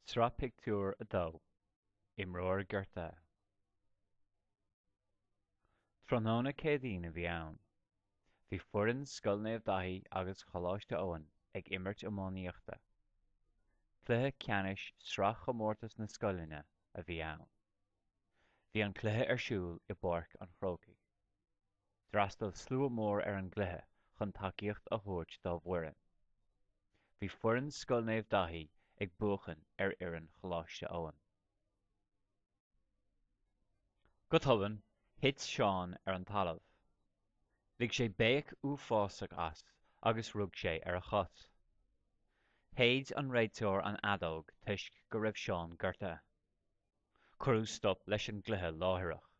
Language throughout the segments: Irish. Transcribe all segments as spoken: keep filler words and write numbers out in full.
Sraith Pictiúr a dó Imreoir Gortaithe Tráthnóna Céadaoin a bhí ann. Bhí foireann Scoil Naomh Daithí agus Choláiste Eoin ag imirt iománaíochta. Cluiche ceannais Sraithchomórtas na Scoileanna a bhí ann. Bhí an cluiche ar siúl i bPáirc an Chrócaigh. D'fhreastail slua mór ar an gcluiche chun tacaíocht a thabhairt dá bhfoireann. Bhí foireann Scoil Naomh Daithí ag buachan ar fhoireann Choláiste Eoin. Go tobann, thit Seán ar an talamh. Lig sé béic uafásach as agus rug sé ar a chos. Shéid an réiteoir an fheadóg toisc go raibh Seán gortaithe. Cuireadh stop leis an gcluiche láithreach.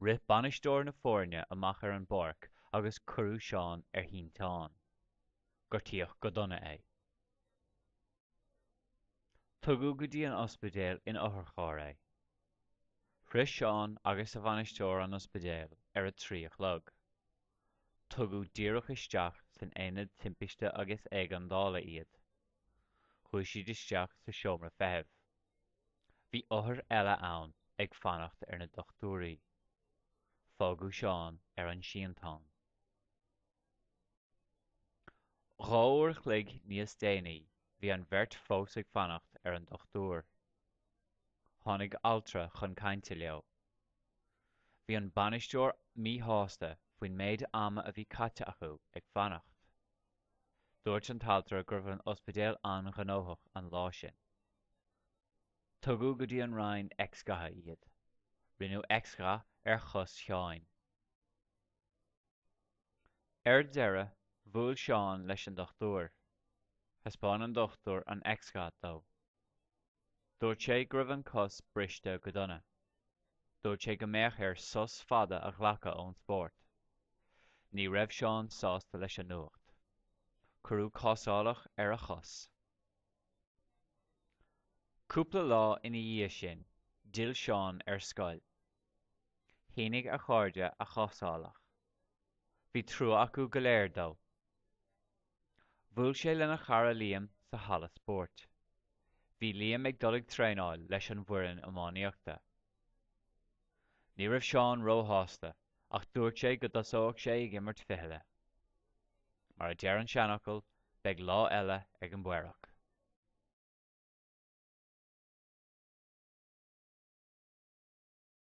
Rith bainisteoir na foirne amach ar an bpáirc agus cuireadh Seán ar shínteán. Gortaíodh go dona é. Tugadh go dtí an ospidéal in otharcharr é. Shroich Seán agus a bhainisteoir an ospidéal ar a trí a chlog. Tugadh díreach isteach san aonad timpiste agus éigeandála iad. Chuaigh siad isteach sa seomra feithimh. Bhí othair eile ann ag fanacht ar na dochtúirí. Fágadh Seán ar an síntán. Dhá uair a chloig níos déanaí bhí an bheirt fós ag fanacht ar an dochtúir. Tháinig altra chun cainte leo. Bhí an bainisteoir míshásta faoin méid ama a bhí caite acu ag fanacht. Dúirt an t-altra go raibh an ospidéal an-ghnóthach an lá sin. Tugadh go dtí an roinn X-ghatha iad. Rinneadh X-gha ar chos Sheáin. Ar deireadh, bhuail Seán leis an dochtúir. Thaispeáin an dochtúir an X-gha dó. Dúirt sé go raibh an cos briste go dona. Dúirt sé go mbeadh air sos fada a ghlacadh ón spórt. Ní raibh Seán sásta leis an nuacht. Cuireadh cásálach ar a chos. Cúpla lá ina dhiaidh sin, d'fhill Seán ar scoil. Shínigh a chairde a chásálach. Bhí trua acu go léir dó. Bhuail sé lena chara Liam sa halla spóirt. Bhí Liam ag dul ag traenáil leis an bhfoireann iománaíochta. Ní raibh Seán róshásta ach dúirt sé go dtosódh sé ag imirt fichille. Mar a deir an seanfhocal, beidh lá eile ag an bPaorach.